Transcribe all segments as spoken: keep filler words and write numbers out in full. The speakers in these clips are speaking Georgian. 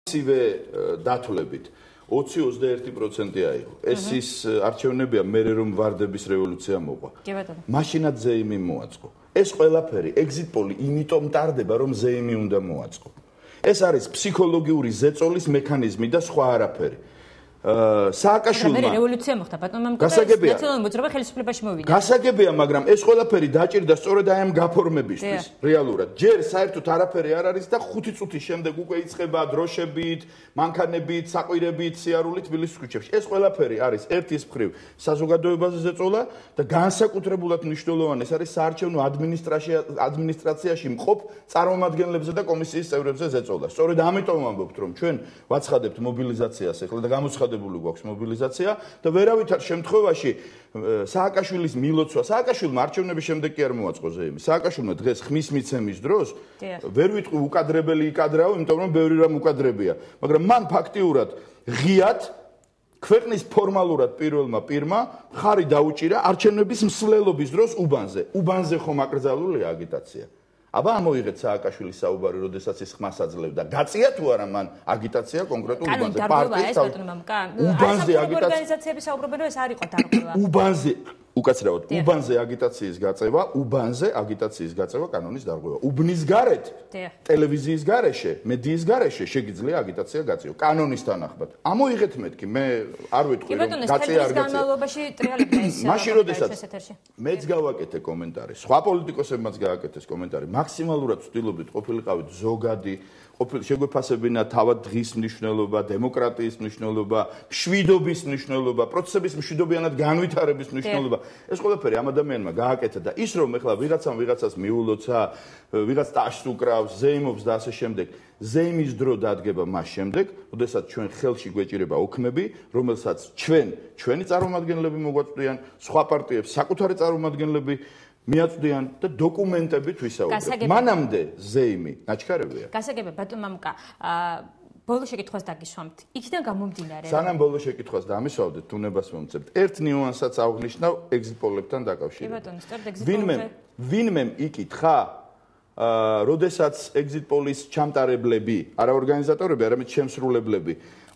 ისივე დათვლებით ოცი ოცდაერთი პროცენტი აიღო. ეს ის არჩევნებია მერე რომ ვარდების რევოლუცია მოყვა. მაშინაც ზეიმი მოაწყო. ეს ყველაფერი exit poll იმიტომ ტარდება რომ ზეიმი უნდა მოაწყო. ეს არის ფსიქოლოგიური ზეწოლის მექანიზმი და სხვა არაფერი. სააკაშვილმა რევოლუცია მოხდა ბატონმა ნაციონალური მოძრაობა ხელისუფლებაში მოვიდა. გასაგებია, მაგრამ ეს ყველაფერი დაჭირდა სწორედ აი ამ გაფორმებისთვის, რეალურად. ჯერ საერთოდ არაფერი არ არის და ხუთი წუთის შემდეგ უკვე იწყება დროშებით, მანქანებით, საყვირებით, სიარულით თბილისის ქუჩებში. ეს ყველაფერი არის ერთის მხრივ საზოგადოებაზე ზეწოლა და განსაკუთრებულად მნიშვნელოვანი ეს არის საარჩევნო ადმინისტრაციაში მყოფ წარმომადგენლებზე და კომისიის წევრებზე ზეწოლა. სწორედ ამიტომ ვამბობთ, რომ ჩვენ ვაცხადებთ მობილიზაციას ახლა და გამოცხადებთ გვაქვს მობილიზაცია და ვერავითარ შემთხვევაში სააკაშვილის მილოცვა სააკაშვილმა არჩევნების შემდეგ კი არ მოაწყო ზეიმი. სააკაშვილმა დღეს ხმის მიცემის დროს ვერ ვიტყვი უკადრებელი იკადრაო, იმიტომ რომ ბევრი რამ უკადრებია, მაგრამ მან ფაქტიურად ღიად ქვეყნის ფორმალურად პირველმა პირმა ხარი დაუჭირა არჩევნების მსვლელობის დროს უბანზე. უბანზე ხომ აკრძალულია აგიტაცია? აბა ამოიღეთ სააკაშვილის საუბარი, როდესაც ის ხმას აძლევდა. გაწია თუ არა მან აგიტაცია კონკრეტულ უბანზე? პარტიის უბანზე ორგანიზაციების საუბრობენ, რომ ეს არ იყო დარღვევა. უბანზე უკაცრავად, უბანზე აგიტაციის გაწევა, უბანზე აგიტაციის გაწევა კანონის დარღვევა. უბნის გარეთ, ტელევიზიის გარეშე, მედიის გარეშე შეგიძლია აგიტაცია გაწევა. კანონის თანახმად. ამოიღეთ მეთქი, მე არ ვიტყვი რომ გაწია არ გაწია. მაშინ როდესაც მეც გავაკეთე კომენტარი, სხვა პოლიტიკოსებმაც გააკეთეს კომენტარი. მაქსიმალურად ვცდილობდით ყოფილიყავით ზოგადი, ყოფილი შეგვეფასებინა თავად დღის მნიშვნელობა, დემოკრატიის მნიშვნელობა, მშვიდობის მნიშვნელობა, პროცესების მშვიდობიანად განვითარების მნიშვნელობა. ეს ყველაფერი ამ ადამიანმა გააკეთა და ის რომ ეხლა ვიღაცამ ვიღაცას მიულოცა, ვიღაც ტაშს უკრავს, ზეიმობს და ასე შემდეგ. ზეიმის დრო დადგება მას შემდეგ, როდესაც ჩვენ ხელში გვეჭირება ოქმები, რომელსაც ჩვენ, ჩვენი წარმომადგენლები მოგვაწვდიან, სხვა პარტიებს საკუთარი წარმომადგენლები მიაწვდიან და დოკუმენტებით ვისაუბრებთ. მანამდე ზეიმი ნაჩქარებია. გასაგებია ბატონ მამუკა, ბოლო შეკითხვას დაგისვამთ. იქიდან გამომდინარე. სანამ ბოლო შეკითხვას დამისვავდეთ, თუნებას მომწევთ. ერთ ნიუანსაც აღვნიშნავ exit poll-ებთან დაკავშირებით. კი ბატონო, სწორედ exit ვინმე ვინმე იკითხა, როდესაც exit poll-ის ჩამტარებლები, არა ორგანიზატორები, არამედ შემსრულებლები,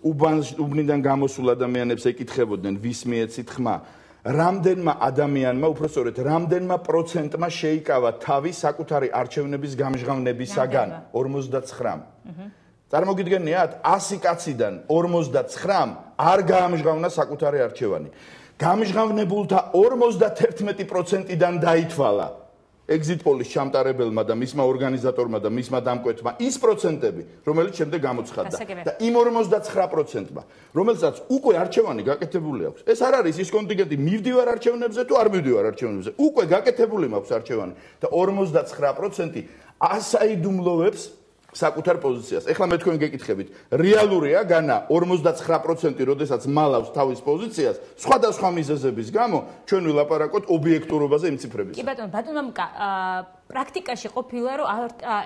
უბნიდან გამოსულ ადამიანებს ეკითხებოდნენ, ვის მიეცით ხმა. რამდენმა ადამიანმა, უფრო სწორედ, რამდენმა პროცენტმა შეიკავა თავი საკუთარი არჩევნების გამჟღავნებისაგან? ორმოცდაცხრამ. წარმოგიდგენიათ, ასი კაციდან ორმოცდაცხრამ არ გაამჟღავნა საკუთარი არჩევანი. გამჟღავნებულთა ორმოცდათერთმეტი პროცენტიდან დაითვალა exit poll-ის ჩამტარებელმა და მისმა ორგანიზატორმა და მისმა დამკვეთმა ის პროცენტები, რომელიც შემდეგ გამოცხადდა. და იმ ორმოცდაცხრამ პროცენტმა, რომელსაც უკვე არჩევანი გაკეთებული აქვს. ეს არ არის ის კონტინგენტი, მივდივარ არჩევნებზე თუ არ მივდივარ არჩევნებზე. უკვე გაკეთებული მაქვს არჩევანი და ორმოცდაცხრამ პროცენტი ასაიდუმლოვებს საკუთარ პოზიციას. ეხლა მე თქვენ გეკითხებით, რეალურია განა ორმოცდაცხრამ პროცენტი, როდესაც მალავს თავის პოზიციას, სხვადასხვა მიზეზების გამო, ჩვენ ვილაპარაკოთ ობიექტურობაზე იმ ციფრების. კი ბატონო, ბატონო მამუკა, პრაქტიკაში ყოფილა, რომ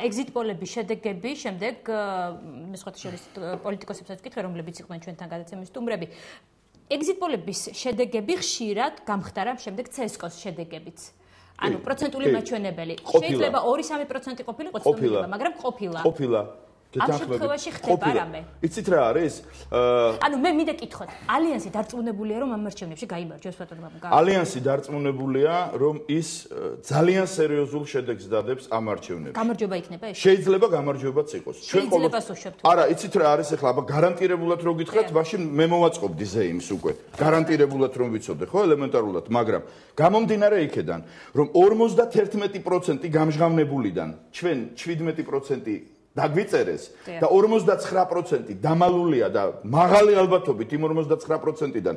exit poll-ების შედეგები შემდეგ, მე სხვათა შორის პოლიტიკოსებსაც ვკითხე, რომლებიც იყვნენ ჩვენთან გადაცემის სტუმრები, exit poll-ების შედეგები ხშირად გამხდარა შემდეგ ცესკოს შედეგებიც. ანუ პროცენტული მაჩვენებელი. შეიძლება ორი სამი პროცენტი ყოფილიყო ცნობილება, მაგრამ ყოფილა. ყოფილა. ამ შემთხვევაში ხდება რამე. იცით რა არის? ანუ მე მინდა კითხოთ, ალიანსი დარწმუნებულია რომ ამ არჩევნებში გაიმარჯვებს ბატონო მამუკა? ალიანსი დარწმუნებულია რომ ის ძალიან სერიოზულ შედეგს დადებს ამ არჩევნებში. გამარჯვება იქნება ეს? შეიძლება გამარჯვებაც იყოს. შეიძლება სოშობთ. არა, იცით რა არის ახლა, აბა გარანტირებულად რო გითხრათ, მაშინ მე მოვაწყობდი ზეიმს უკვე. გარანტირებულად რომ ვიცოდე, ხო, ელემენტარულად, მაგრამ გამომდინარე იქედან, რომ ორმოცდათერთმეტი პროცენტი გამჟღავნებულიდან ჩვენ შვიდმეტი პროცენტი დაგვიწერეს და ორმოცდაცხრამ პროცენტი დამალულია და მაღალი ალბათობით იმ ორმოცდაცხრამ პროცენტიდან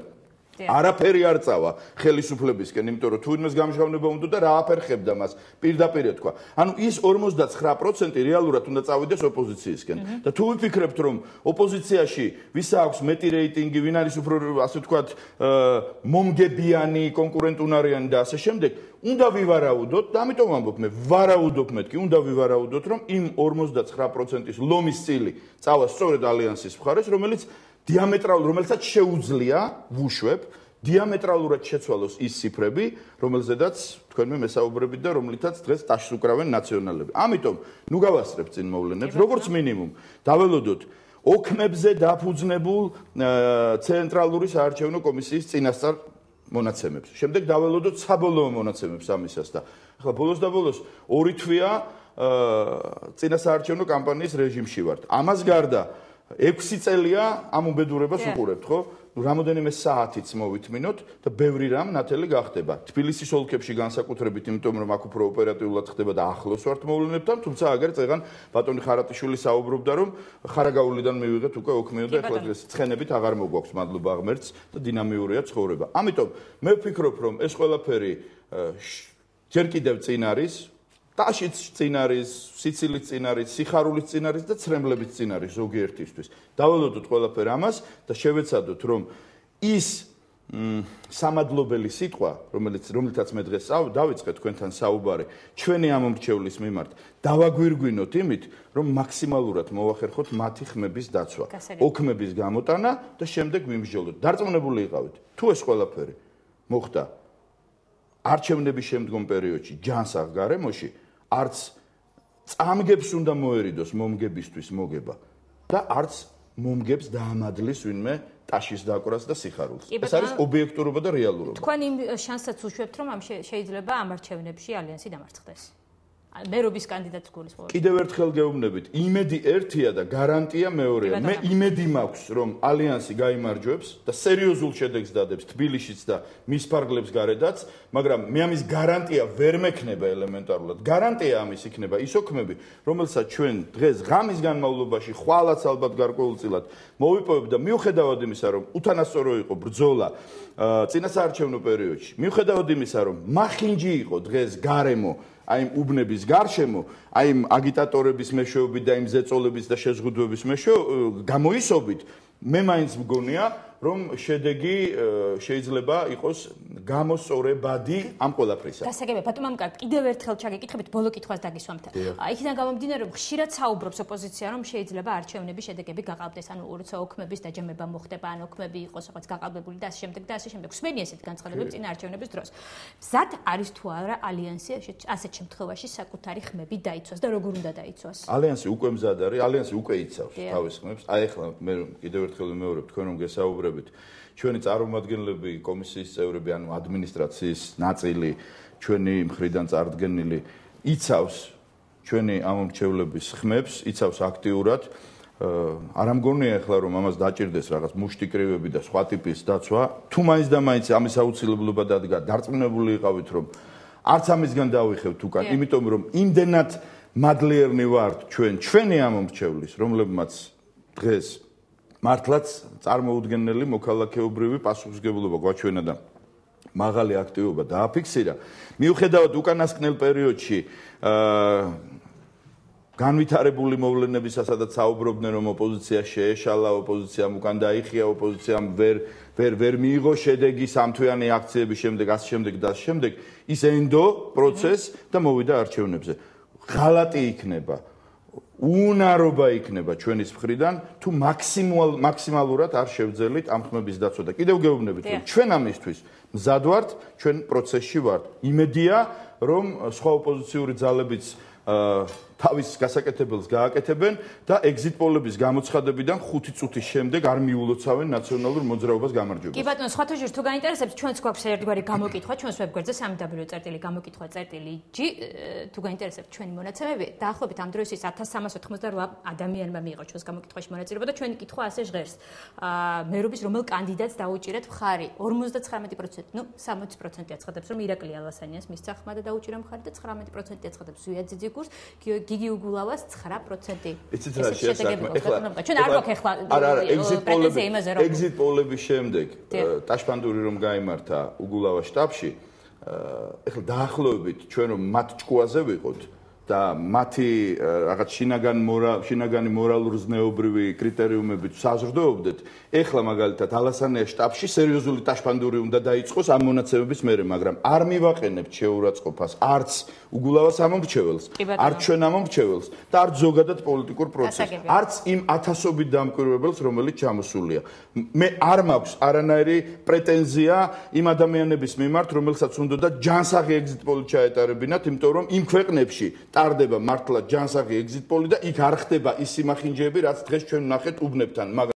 არაფერი არ წავა ხელისუფლებისკენ, იმიტომ რომ თუ იმას გამჟღავნება უნდა და რა აფერხებდა მას, პირდაპირ ეთქვა. ანუ ის ორმოცდაცხრამ პროცენტი რეალურად უნდა წავიდეს ოპოზიციისკენ. და თუ ვიფიქრებთ, რომ ოპოზიციაში ვისა აქვს მეტი რეიტინგი, ვინ არის უფრო ასე ვთქვათ, მომგებიანი, კონკურენტუნარიანი და ასე შემდეგ, უნდა ვივარაუდოთ და ამიტომ ვამბობ მე, ვარაუდობ მეთქი, უნდა ვივარაუდოთ, რომ იმ ორმოცდაცხრამ პროცენტის ლომის წილი წავა სწორედ ალიანსის მხარეს, რომელიც დიამეტრალ, რომელსაც შეუძლია ვუშვებ, დიამეტრალურად შეცვალოს ის ციფრები, რომელზედაც თქვენ მე მესაუბრებით და რომლითაც დღეს ტაშს უკრავენ ნაციონალები. ამიტომ ნუ გავასწრებთ წინ მოვლენებს, როგორც მინიმუმ დაველოდოთ ოქმებზე დაფუძნებულ ცენტრალური საარჩევნო კომისიის წინასწარ მონაცემებს. შემდეგ დაველოდოთ საბოლოო მონაცემებს ამისას და ახლა ბოლოს და ბოლოს ორი თვეა წინასაარჩევნო კამპანიის რეჟიმში ვართ. ამას გარდა ექვსი წელია ამ უბედურებას უყურებთ, ხო? რამოდენიმე საათიც მოვითმინოთ და ბევრი რამ ნათელი გახდება. თბილისის ოლქებში განსაკუთრებით, იმიტომ რომ აქ უფრო ოპერატიულად ხდება და ახლოს ვართ მოვლენებთან, თუმცა აგერ წეგან ბატონი ხარატიშვილი საუბრობდა, რომ ხარაგაულიდან მივიღეთ უკვე ოქმეო და ეხლა დღეს ცხენებით აღარ მოგვაქვს, მადლობა ღმერთს და დინამიურია ცხოვრება. ამიტომ მე ვფიქრობ, რომ ეს ყველაფერი ჯერ კიდევ წინ არის, ტაშიც წინ არის, სიცილიც წინ არის, სიხარულიც წინ არის და ცრემლებით წინ არის ზოგიერთისთვის. დაველოდოთ ყველაფერ ამას და შევეცადოთ, რომ ის სამადლობელი სიტყვა, რომელიც რომლითაც მე დღეს დავიწყე თქვენთან საუბარი, ჩვენი ამომრჩევლის მიმართ, დავაგვირგვინოთ იმით, რომ მაქსიმალურად მოვახერხოთ მათი ხმების დაცვა, ოქმების გამოტანა და შემდეგ ვიმსჯელოთ. დარწმუნებული იყავით, თუ ეს ყველაფერი მოხდა არჩევნების შემდგომ პერიოდში, ჯანსაღ გარემოში, არც წამგებს უნდა მოერიდოს მომგებისთვის მოგება და არც მომგებს დაამადლის ვინმე ტაშის დაკვრას და სიხარულს. ეს არის ობიექტურობა და რეალურობა. თქვენ იმ შანსსაც უშვებთ, რომ ამ შეიძლება ამ არჩევნებში ალიანსი დამარცხდეს. მერობის კანდიდატს გულისხმობთ. კიდევ ერთხელ გეუბნებით, იმედი ერთია და გარანტია მეორეა. მე იმედი მაქვს, რომ ალიანსი გაიმარჯვებს და სერიოზულ შედეგს დადებს თბილისშიც და მის ფარგლებს გარედაც, მაგრამ მე ამის გარანტია ვერ მექნება ელემენტარულად. გარანტია ამის იქნება ის ოქმები, რომელსაც ჩვენ დღეს ღამის განმავლობაში ხვალაც ალბათ გარკვეულწილად მოვიპოვებ და მიუხედავად იმისა, რომ უთანასწორო იყო ბრძოლა წინასაარჩევნო პერიოდში, მიუხედავად იმისა, რომ მახინჯი იყო დღეს გარემო აი იმ უბნების გარშემო, აი იმ აგიტატორების მეშვეობით და იმ ზეწოლების და შეზღუდვების მეშვეობით გამოისობით, მე მაინც მგონია, რომ შედეგი შეიძლება იყოს გამოსწორებადი ამ ყველაფრისა. გასაგებია, ბატონო მამკარ, კიდევ ერთხელ ჩაგეკითხებით ბოლო კითხვას დაგისვამთ. იქიდან გამომდინარე, რომ ხშირად საუბრობს ოპოზიცია, რომ შეიძლება არჩევნების შედეგები გაყალბდეს, ანუ როცა ოქმების დაჯამება მოხდება, ან ოქმები იყოს რაღაც გაყალბებული და ასე შემდეგ და ასე შემდეგ. ხსმენი ესეთ განცხადებებს წინ არჩევნების დროს. მზად არის თუ არა ალიანსი ასეთ შემთხვევაში საკუთარი ხმები დაიცვას და როგორ უნდა დაიცვას? ალიანსი უკვე მზად არის, ალიანსი უკვე იცავს თავის ხმებს. აი ახლა მე კიდევ ერთხელ ვიმეორებ, თქვენ რომ გესაუბრებთ ჩვენი წარმომადგენლები, კომისიის წევრები, ანუ ადმინისტრაციის ნაწილი, ჩვენი მხრიდან წარდგენილი იცავს ჩვენი ამომრჩევლების ხმებს, იცავს აქტიურად. არ ამგონია ახლა რომ ამას დაჭირდეს რაღაც მუშტიკრივები და სხვა ტიპის დაცვა. თუ მაინც და მაინც ამის აუცილებლობა დადგა, დარწმუნებული იყავით რომ არც ამისგან დავიხევთ უკან, იმიტომ რომ იმდენად მადლიერნი ვართ ჩვენ, ჩვენი ამომრჩევლის, რომლებმაც დღეს მართლაც წარმოუდგენელი მოქალაქეობრივი პასუხისმგებლობა გვაჩვენა და მაღალი აქტივობა დააფიქსირა. მიუხედავად უკანასკნელ პერიოდში განვითარებული მოვლენებისა, სადაც საუბრობდნენ, რომ ოპოზიცია შეეშალა, ოპოზიციამ უკან დაიხია, ოპოზიციამ ვერ ვერ ვერ მიიღო შედეგი სამთვიანი აქციების შემდეგ, ასე შემდეგ და ასე შემდეგ, ის ენდო პროცესს და მოვიდა არჩევნებზე. ღალატი იქნება. უნარობა იქნება ჩვენის მხრიდან თუ მაქსიმალ მაქსიმალურად არ შევძელით ამ ხმების დაცვა და კიდევ გეუბნებით რომ ჩვენ ამისთვის მზად ვართ, ჩვენ პროცესში ვართ. იმედია რომ სხვა ოპოზიციური ძალებიც თავის გასაკეთებელს გააკეთებენ და ეგზიტ პოლების გამოცხადებიდან ხუთი წუთის შემდეგ არ მიულოცავენ ნაციონალურ მოძრაობას გამარჯვებას. კი ბატონო, სხვათა შორის თუ გაინტერესებს, ჩვენც გვაქვს ერთგვარი გამოკითხვა, ჩვენს ვებგვერდზე სამი დაბლიუ წერტილი გამოკითხვა წერტილი ჯი, თუ გაინტერესებთ ჩვენი მონაცემები, დაახლოებით ამ დროისთვის ათას სამას ოთხმოცდარვა ადამიანმა მიიღო ჩვენს გამოკითხვაში მონაწილეობა და ჩვენი კითხვა ასე ჟღერს. მერობის რომელ კანდიდატს დაუჭირეთ მხარი? ორმოცდაცხრამეტი პროცენტი, ნუ სამოცი პროცენტი აცხადებს, რომ ირაკლი ალასანიანს მისცა ხმა და დაუჭირა მხარი და ცხრამეტი პროცენტი აცხადებს ზვია ძიძიგურს, გიგი უგულავას ცხრა პროცენტი. იცით რა შეასახმე? ეხლა ჩვენ არ გვაქვს ეხლა არა, არა, ეგზიტ პოლები, ეგზიტ პოლების შემდეგ ტაშფანდური რომ გაიმართა უგულავას შტაბში, ეხლა დაახლოებით ჩვენ რომ მათ ჭკუაზე ვიყოთ და მათი რაღაც შინაგან მორალ შინაგანი მორალურ ზნეობრივი კრიტერიუმებით საზრდოობდეთ. ეხლა მაგალითად ალასანიას შტაბში სერიოზული ტაშფანდური უნდა დაიწყოს ამ მონაცემების მერე, მაგრამ არ მივაყენებთ შეურაცხყოფას არც უგულავას ამომრჩეველს, არც ჩვენ ამომრჩეველს და არც ზოგადად პოლიტიკურ პროცესს, არც იმ ათასობით დამკვირვებელს, რომელიც ჩამოსულია. მე არ მაქვს არანაირი პრეტენზია იმ ადამიანების მიმართ, რომელსაც უნდა ჯანსაღი ეგზიტ პოლი ჩაეტარებინათ, იმიტომ რომ იმ ქვეყნებში ტარდება მართლა ჯანსაღი ეგზიტ პოლი და იქ არ ხდება ის სიმახინჯეები, რაც დღეს ჩვენ ვნახეთ უბნებთან.